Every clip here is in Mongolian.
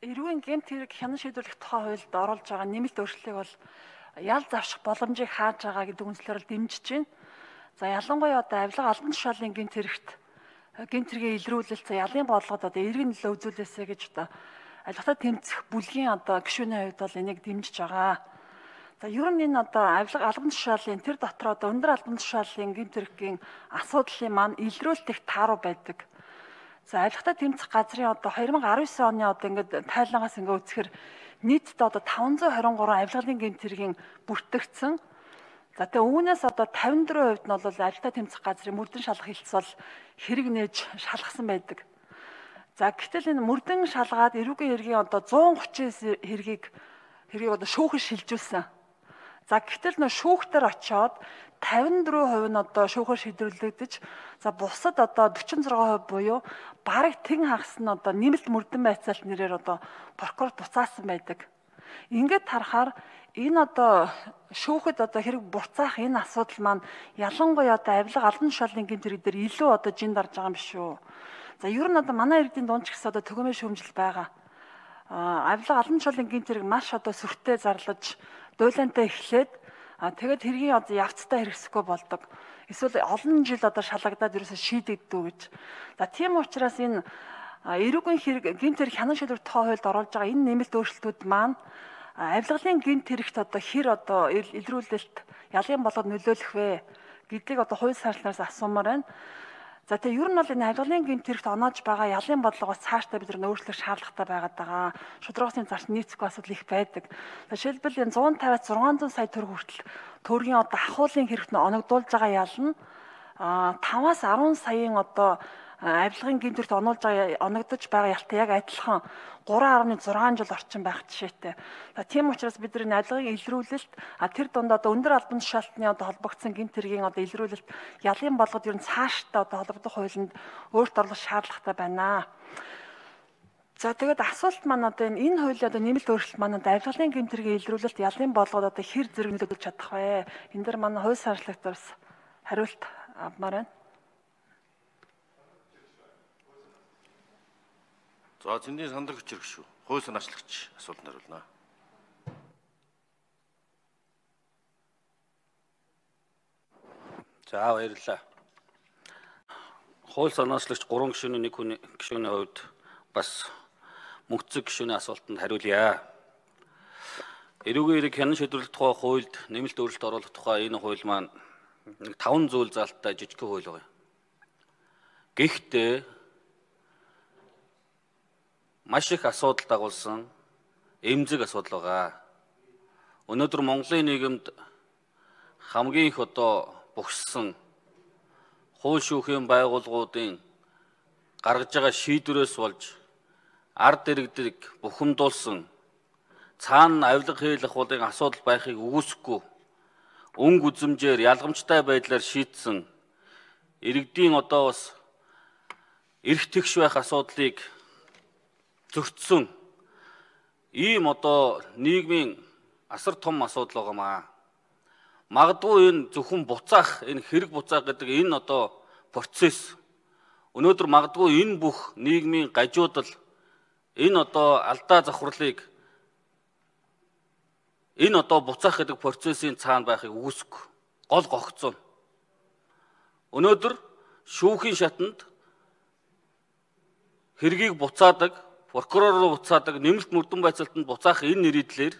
Эрүүгийн гэмт хэрэг хянан шийдвэрлэх тухай хуульд оруулж байгаа нэмэлт өөрчлөлийг бол ял завших боломжийг хааж байгаа гэдэг үндслээр дэмжиж байна. За ялангуяа одоо авилга албан тушаалын гэмт хэргийн илрүүлэлт ялын бодлогод одоо эргэн нөлөө үзүүлээсэ гэж одоо албатаа тэмцэх бүлгийн одоо гишүүний хувьд бол энийг дэмжиж байгаа. За ер нь энэ одоо авилга албан тушаалын тэр дотор одоо өндөр албан тушаалын гэмт хэргийн асуудлын маань илрүүлэлт их тааруу байдаг. За авилгатай тэмцэх газрын одоо 2019 оны одоо ингээд тайлангаас ингээд үзэхээр нийтдээ одоо 523 авилгалын гэмт хэргийн бүртгэгдсэн. За тэгээ үүнээс одоо 54% нь бол авилгатай тэмцэх газрын мөрдөн шалгах хэлтс бол хэрэг нээж шалгасан байдаг. За гэтэл энэ мөрдөн шалгаад эрүүгийн хэргийн одоо 139 хэргийг одоо шүүхэд шилжүүлсэн. За гэтэл нөө шүүхтэр очиод 54% нь одоо шүүхээр шийдвэрлэгдэж, за бусад одоо 46% буюу бараг тэн хагас нь одоо нэмэлт мөрдөн байцаалт нэрээр одоо прокурор буцаасан байдаг. Ингээд харахаар энэ одоо шүүхэд одоо хэрэг буцаах энэ асуудал маань ялангуяа одоо авилга албан тушаалын гэмт хэрэг дээр илүү одоо жин дарж байгаа юм шүү. За ер нь одоо манай иргэдийн дунд ч гэсэн одоо төгөөмөр шүүмжил байгаа. Авилга албан тушаалын гэмт хэрэг маш одоо сүртэй зарлаж, дуйлантай эхлээд тэгээд хэргийн одоо явцтай хэрэгсэхгүй болдог. Эсвэл олон жил одоо шалгагдаад ерөөсөө шийдэгддэг гэж. За тийм учраас энэ эрүүгийн хэрэг гэмт хэрэг хянан шийдвэрлэх тухай хуульд оруулж байгаа энэ нэмэлт өөрчлөлтүүд маань авилгалын гэмт хэрэгт одоо хэр одоо илрүүлэлт ялын болгоод нөлөөлөх вэ гэдгийг одоо хууль сарлнаас асуумаар байна. За тэгээ ер нь бол энэ авилгалын гэмт хэрэгт оноож байгаа ялын бодлогоос цаашдаа бид нар өөрчлөх шаардлагатай байгаа. Шударгаасын зарц нийцэхгүй асуудал их байдаг. Жишээлбэл энэ 150-аас 600 сая төгрөг хүртэл төгрөгийн одоо ахуулын хэрэгт нь оногдуулж байгаа ял нь 5-аас 10 саяын одоо авилгын гэмт хэрэгт оногдож байгаа ялтай яг адилхан 3.6 жил орчим байх жишээтэй. За тийм учраас бид нар авилгын илрүүлэлт тэр дунд одоо өндөр албан тушаалтны одоо холбогдсон гэмт хэргийн одоо илрүүлэлт ялын болгоод ер нь цаашдаа одоо холбогдох хуулинд өөрт оруулах шаардлагатай байна. За тэгээд асуулт маань одоо энэ хуулийн одоо нэмэлт өөрчлөлт маань авилгалын гэмт хэргийн илрүүлэлт ялын болгоод одоо хэр зэрэг нөлөөлж чадах вэ? Энэ дээр манай хууль сарчлагчдаас хариулт авмаар байна. За зэндийн сандраг хүчрэг шүү. Хууль санаачлагч асуултанд хариулна. За баярлалаа. Хууль санаачлагч 3 гишүүний нэг хүний гишүүний хувьд бас мөнгөцөг гишүүний асуултанд хариулъя. Эрүүгийн хэрэг хянан шийдвэрлэх тухай хуульд нэмэлт өөрчлөлт оруулах тухай энэ хууль маань 5 зүйл залттай жижигхэн хууль байна. Гэхдээ маш их асуудал дагуулсан эмзэг асуудал байгаа. Өнөөдөр Монголын нийгэмд хамгийн их одоо бухссан хууль шүүхийн байгууллагуудын гаргаж байгаа шийдвэрээс болж ард иргэдэг бухимдуулсан цаана авилга хийх ахуулгын асуудал байхыг үгүйсэхгүй өнгө үзэмжээр ялгамжтай байдлаар шийдсэн иргэдийн одоо бас эрх тэгш байх асуудлыг зөрчсөн ийм одоо нийгмийн асар том асуудал байгаамаа. Магадгүй энэ зөвхөн буцаах, энэ хэрэг буцаах гэдэг энэ одоо процесс өнөөдөр магадгүй энэ бүх нийгмийн гажуудал энэ одоо алдаа завхралыг энэ одоо буцаах гэдэг процессын цаана байхыг үгүйсэхгүй гол гогцоо. Өнөөдөр шүүхийн шатанд хэргийг буцаадаг, прокурор руу буцаадаг, нэмэлт мөрдөн байцаалтанд буцаах энэ нэрийдлэр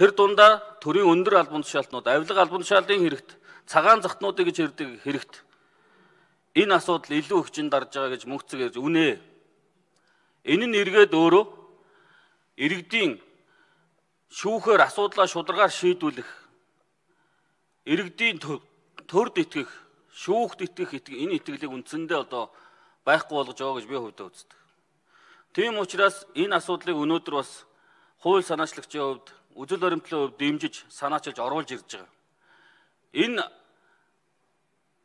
тэр дундаа төрийн өндөр албан тушаалтнууд, авилга албан тушаалын хэрэгт, цагаан захтнуудыг гэж ярьдаг хэрэгт энэ асуудал илүү их жин дарж байгаа гэж мөнгөцөг ярьж үнэ. Энэ нь эргээд өөрөө иргэдийн шүүхээр асуудлаа шударгаар шийдвүлэх, иргэдийн төрд итгэх, шүүхт итгэх энэ итгэлийг үндсэндээ одоо байхгүй болгож байгаа гэж би хувьдаа үздэг. Тийм учраас энэ асуудлыг өнөөдөр бас хууль санаачлагчийн хувьд, үзэл баримтлалын хувьд дэмжиж, санаачилж оруулж ирж байгаа. Энэ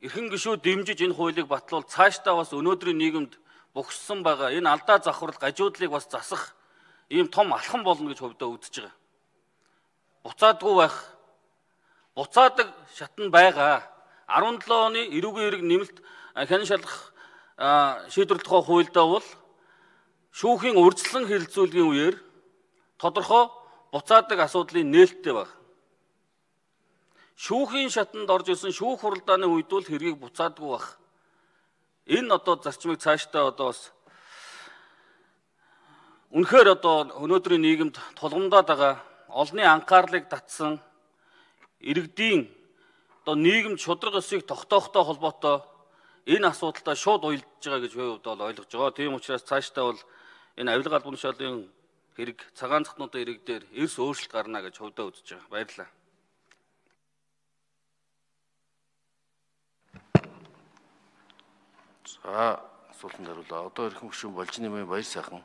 эрхэм гишүүд дэмжиж энэ хуулийг батлуул цаашдаа бас өнөөдрийн нийгэмд бухссан байгаа энэ алдаа завхрал гажуудлыг бас засах ийм том алхам болно гэж хувьдаа үзэж байгаа. Буцаадгүй байх. Буцаадаг шатн байгаа. 17 оны эрүүгийн хэрэг нэмэлт хянан шалгах шийдвэрлэх тухай хуульдаа бол шүүхийн урьдчилан хэлэлцүүлгийн үеэр тодорхой буцаадаг асуудлын нээлттэй баг. Шүүхийн шатанд орж ирсэн шүүх хуралдааны үед бол хэргийг буцаадаггүй баг. Энэ одоо зарчмыг цаашдаа одоо бас үнэхээр одоо өнөөдрийн нийгэмд тулгамдаад байгаа олонний анхаарлыг татсан иргэдийн одоо нийгэмд шудраг ёсыг тогтоохтой холбоотой энэ асуудалтай шууд уялдж байгаа гэж би бол ойлгож байгаа. Тийм учраас цаашдаа бол энэ авилга албан тушаалын хэрэг цагаан цахнуудын хэрэг дээр эрс өөрчлөлт гарна гэж хувьдаа үзэж байгаа. Баярлалаа. За асуултанд хариулаа. Одоо эрхэм гишүүн Болжны Баяр сайхан